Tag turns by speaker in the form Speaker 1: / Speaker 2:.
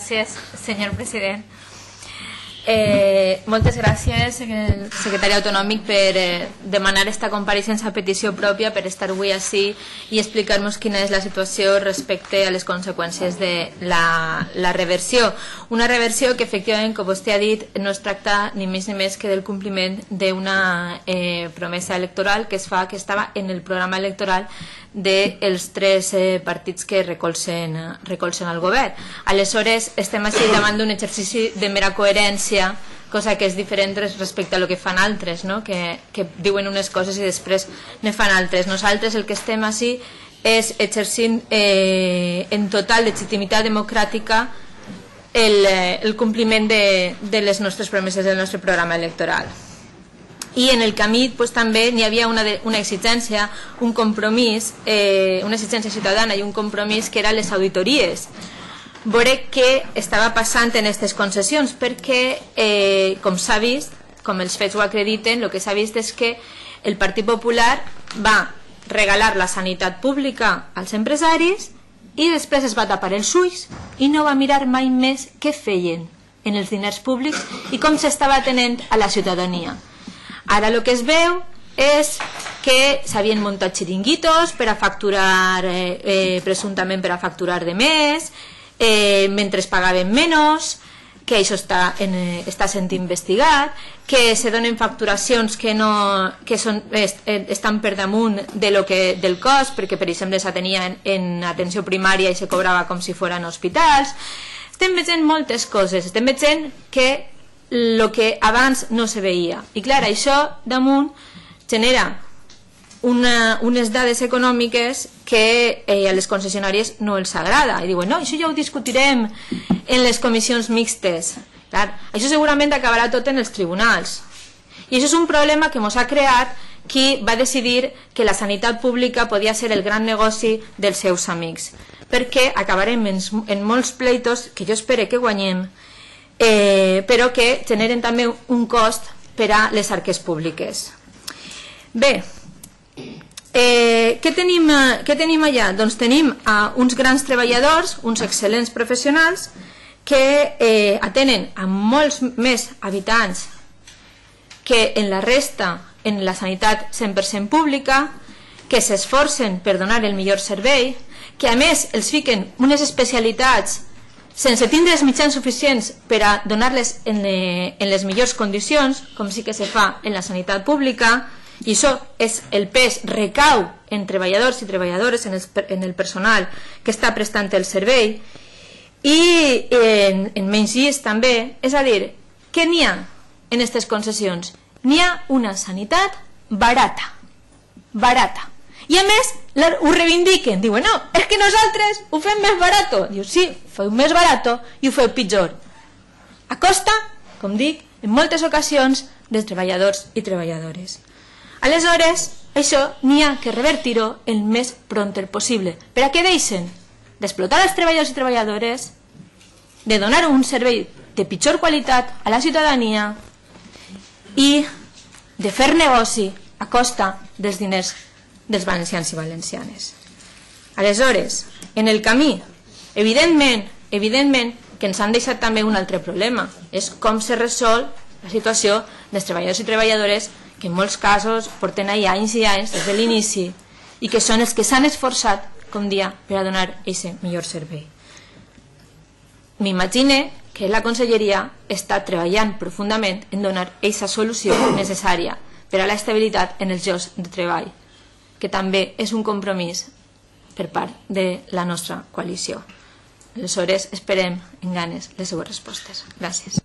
Speaker 1: Gràcies, senyor president. Moltes gràcies, secretari autonòmic, per demanar esta compareixença a petició pròpia, per estar avui així i explicar-nos quina és la situació respecte a les conseqüències de la reversió. Una reversió que, efectivament, com vostè ha dit, no es tracta ni més ni més que del compliment d'una promesa electoral que es fa, que estava en el programa electoral dels tres partits que recolzen el govern. Aleshores, estem així davant d'un exercici de mera coherència, cosa que és diferent respecte a lo que fan altres, no? que diuen unes coses i després ne fan altres. Nosaltres el que estem així és exercint en total legitimitat democràtica el compliment de les nostres promeses del nostre programa electoral. I en el camí també n'hi havia una exigència, un compromís, una exigència ciutadana i un compromís que eren les auditories. Veure què estava passant en aquestes concessions, perquè, com s'ha vist, com els fets ho acrediten, el que s'ha vist és que el Partit Popular va regalar la sanitat pública als empresaris i després es va tapar els ulls i no va mirar mai més què feien en els diners públics i com s'estava atenent a la ciutadania. Ara el que es veu és que s'havien muntat xiringuitos per a facturar, presumptament per a facturar de més, mentre es pagaven menys, que això està sent investigat, que se donen facturacions que estan per damunt del cost, perquè per exemple s'atenia en atenció primària i se cobrava com si fossin hospitals. Estem veient moltes coses, estem veient que el que abans no se veia. I clar, això damunt genera unes dades econòmiques que a les concessionàries no els agrada. I diuen, no, això ja ho discutirem en les comissions mixtes. Clar, això segurament acabarà tot en els tribunals. I això és un problema que ens ha creat qui va decidir que la sanitat pública podia ser el gran negoci dels seus amics. Perquè acabarem en molts pleitos que jo espero que guanyem, però que generen també un cost per a les arques públiques. Bé, què tenim allà? Doncs tenim uns grans treballadors, uns excel·lents professionals que atenen a molts més habitants que en la resta, en la sanitat 100% pública, que s'esforcen per donar el millor servei, que a més els fiquen unes especialitats sense tindre els mitjans suficients per a donar-les en les millors condicions, com sí que se fa en la sanitat pública, i això és el pes recau en treballadors i treballadores, en el personal que està prestant el servei, i en menys llist també. És a dir, què n'hi ha en aquestes concessions? N'hi ha una sanitat barata, barata. I a més ho reivindiquen, diuen, no, és que nosaltres ho fem més barato. Diu, sí, feu més barato i ho feu pitjor. A costa, com dic, en moltes ocasions, dels treballadors i treballadores. Aleshores, això n'hi ha que revertir-ho el més pront possible. Per a què deixen? D'explotar els treballadors i treballadores, de donar un servei de pitjor qualitat a la ciutadania i de fer negoci a costa dels diners dels valencians i valencianes. Aleshores, en el camí, evidentment que ens han deixat també un altre problema, és com se resol la situació dels treballadors i treballadores que en molts casos porten anys i anys des de l'inici i que són els que s'han esforçat, com dia, per a donar aquest millor servei. M'imagine que la conselleria està treballant profundament en donar aquesta solució necessària per a l'estabilitat en els llocs de treball, que també és un compromís per part de la nostra coalició. Aleshores, esperem en ganes les seues respostes. Gràcies.